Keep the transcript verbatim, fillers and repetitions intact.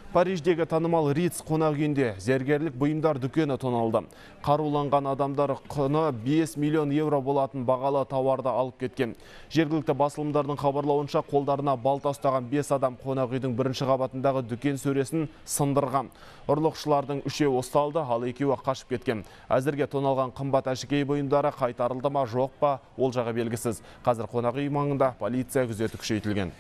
Париждегі танымал Риц қонақ үйінде зергерлік бұйымдар дүкені тоналды. Қаруланған адамдар құны бес миллион евро болатын бағалы тауарды алып кеткен. Жергілікті басылымдардың хабарлауынша қолдарына балта ұстаған бес адам қонақ үйдің бірінші қабатындағы дүкен сөресін сындырған. Ұрлықшылардың үшеуі ұсталды, ал екеуі қашып кеткен. Әзірге тоналған қымбат әшекей бұйымдары қайтарылды ма жоқ па, ол жағы белгісіз. Қазір қонақ үй маңында полиция күзеті күшейтілген.